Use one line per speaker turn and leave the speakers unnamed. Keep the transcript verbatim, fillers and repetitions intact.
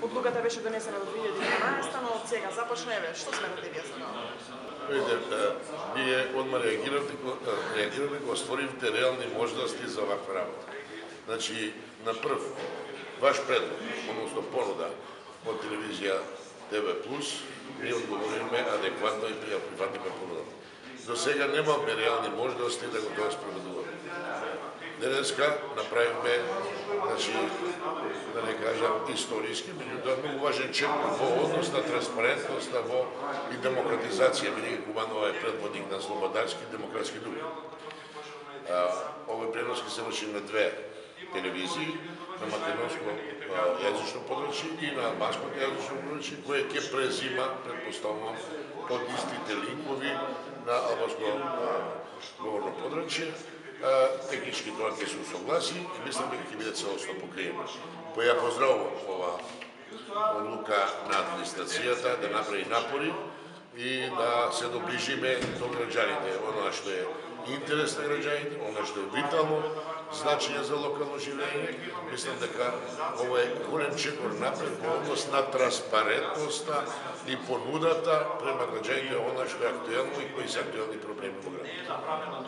Одлуката беше донесена до две илјади и дванаесета, но од сега започна, еве, што сметате вие за тоа?
Видите, ние одма реагиравме, реагиравме кога створивте реални можности за ваква работа. Значи, на прв, ваш предлог, односно понуда од телевизија Т В плюс, ние одговориме адекватно и ја прифатиме понудата. До сега немаме реални можности да го тоа спроведуваме. Денеска направиме, значи, да не кажам историски, меѓутоа многу важен чекор во однос на транспарентноста во и демократизација, бидејќи Кубанова е предводник на слободарски и демократски дух. Овој пренос ќе се врши на две телевизии, на македонско јазично подрачје и на албанско јазично подрачје, кое ќе презима, предпоставувам, од истите линкови на албанско говорно подрачје. Технички тоа ќе се усогласи и мислам дека ќе биде целосно покриено. Па ја поздравувам ова одлука на администрацијата да направи напори и да се доближиме до граѓаните, она што е интерес на граѓаните, она што е витално значење за локално живење. Мислам дека ова е голем чекор напред во однос на транспарентноста и понудата према граѓаните, она што е актуелно и кои се актуелни проблеми во градот.